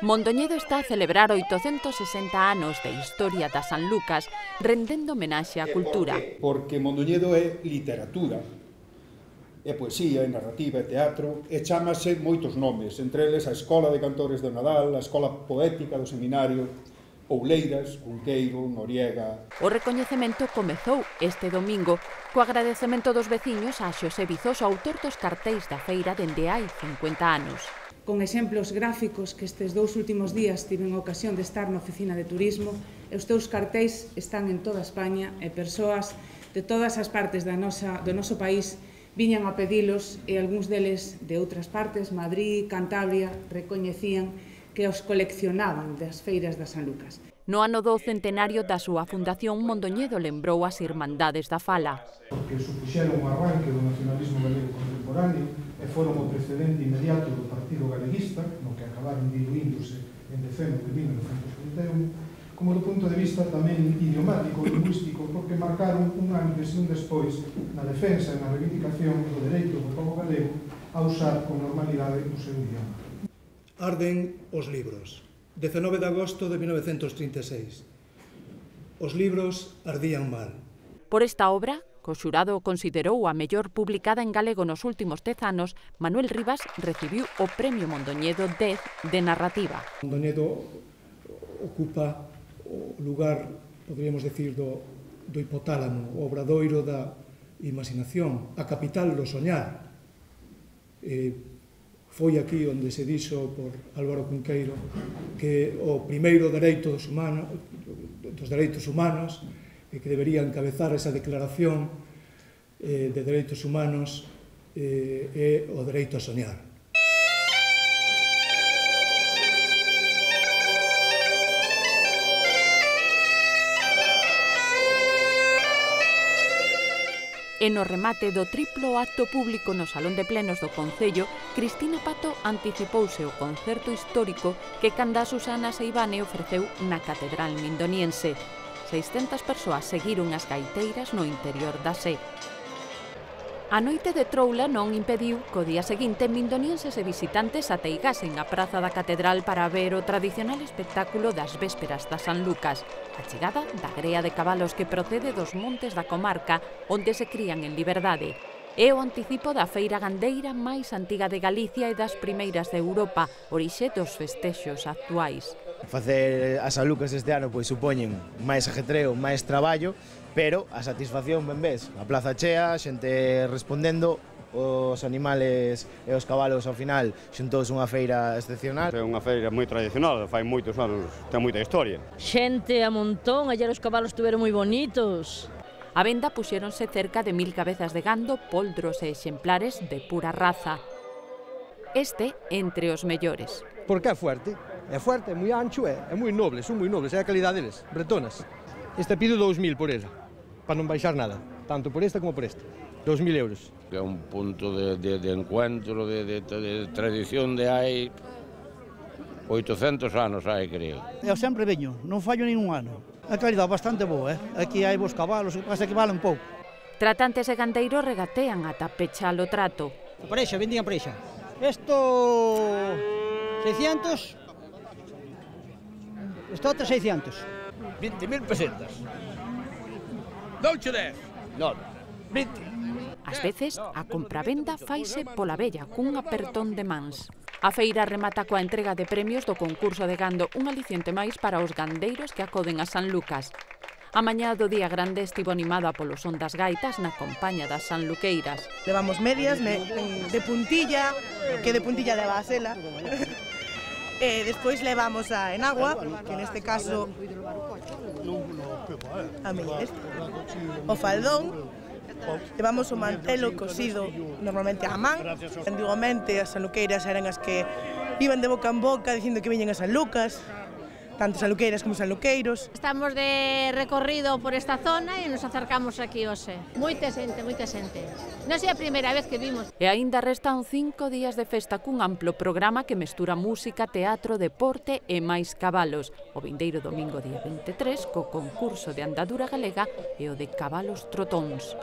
Mondoñedo está a celebrar 860 anos de historia da San Lucas, rendendo homenaxe á cultura. Porque Mondoñedo é literatura, é poesía, é narrativa, é teatro, e chámase moitos nomes, entre eles a Escola de Cantores de Nadal, a Escola Poética do Seminario, Ouleiras, Cunqueiro, Noriega. O recoñecemento comezou este domingo co agradecemento dos veciños a Xosé Vizoso, autor dos cartéis da feira dende hai 50 anos. Con exemplos gráficos que estes 2 últimos días tiven a ocasión de estar na oficina de turismo, e os teus cartéis están en toda España e persoas de todas as partes do noso país viñan a pedilos e algúns deles de outras partes, Madrid, Cantabria, recoñecían que os coleccionaban das feiras da San Lucas. No ano do centenario da súa fundación, Mondoñedo lembrou as Irmandades da Fala. Porque supuxeron o arranque do nacionalismo galego contemporáneo e foron o precedente inmediato do Partido Galeguista, no que acabaron diluíndose en decembro de 1931, como do punto de vista tamén idiomático e lingüístico, porque marcaron un antes e un despois na defensa e na reivindicación do dereito do povo galego a usar con normalidade o seu idioma. Arden os libros. 19 de agosto de 1936. Os libros ardían mal. Por esta obra, que o xurado considerou a mellor publicada en galego nos últimos 10 anos, Manuel Rivas recibiu o Premio Mondoñedo 10 de narrativa. Mondoñedo ocupa o lugar, poderíamos decir, do hipotálamo, o obradoiro da imaginación, a capital do soñar. Foi aquí onde se dixo por Álvaro Cunqueiro que o primeiro dos dereitos humanos e que debería encabezar esa declaración de dereitos humanos é o dereito a soñar. E no remate do triplo acto público no Salón de Plenos do Concello, Cristina Pato anticipouse o concerto histórico que canda Susana Seivane ofreceu na Catedral Mindoniense. 600 persoas seguiron as gaiteiras no interior da sé. A noite de troula non impediu que o día seguinte mindonienses e visitantes ateigasen a praza da Catedral para ver o tradicional espectáculo das vésperas da San Lucas, a chegada da grea de cabalos que procede dos montes da comarca onde se crían en liberdade. É o anticipo da feira gandeira máis antiga de Galicia e das primeiras de Europa, orixe dos festexos actuais. Facer as San Lucas este ano pois supoñen máis ajetreo, máis traballo, pero a satisfacción ben ves, a plaza chea, xente respondendo, os animales e os cabalos ao final xuntouse unha feira excepcional. É unha feira moi tradicional, fai moitos anos, ten moita historia. Xente a montón, ayer os cabalos estuveron moi bonitos. A venda puxéronse cerca de 1000 cabezas de gando, poldros e exemplares de pura raza. Este entre os mellores. Porque é fuerte, é moi ancho, é moi noble, son moi nobles, é a calidade deles, bretonas. Este pido 2000 por ela, para non baixar nada, tanto por esta como por esta. 2000 euros. É un punto de encuentro, de tradición de hai 800 anos hai, creo. Eu sempre veño, non fallo ningún ano. A calidade bastante boa, Aquí hai vos cabalos, o que pasa que valen pouco. Tratantes e gandeiros regatean ata pechar o trato. A parexa, vendían parexa. Esto 600. Isto outro 600. 20.000 pesetas. Douche 10. Non, 20. Ás veces, a compravenda faise pola vella, cun apertón de mans. A feira remata coa entrega de premios do concurso de gando, un aliciente máis para os gandeiros que acoden a San Lucas. A mañá do día grande estivo animada polo son das gaitas na compaña das sanluqueiras. Levamos medias de puntilla, que de puntilla leva a sela. Despois levamos a enagua, que neste caso o faldón. Levamos o mantelo cosido normalmente a man. Antigamente as sanluqueiras eran as que iban de boca en boca dicindo que viñen a San Lucas, tanto sanluqueiras como sanluqueiros. Estamos de recorrido por esta zona e nos acercamos aquí hoxe. Moita xente, moita xente. Non sei a primeira vez que vimos. E aínda restan 5 días de festa cun amplo programa que mestura música, teatro, deporte e máis cabalos. O vindeiro domingo día 23 co concurso de andadura galega e o de cabalos trotóns.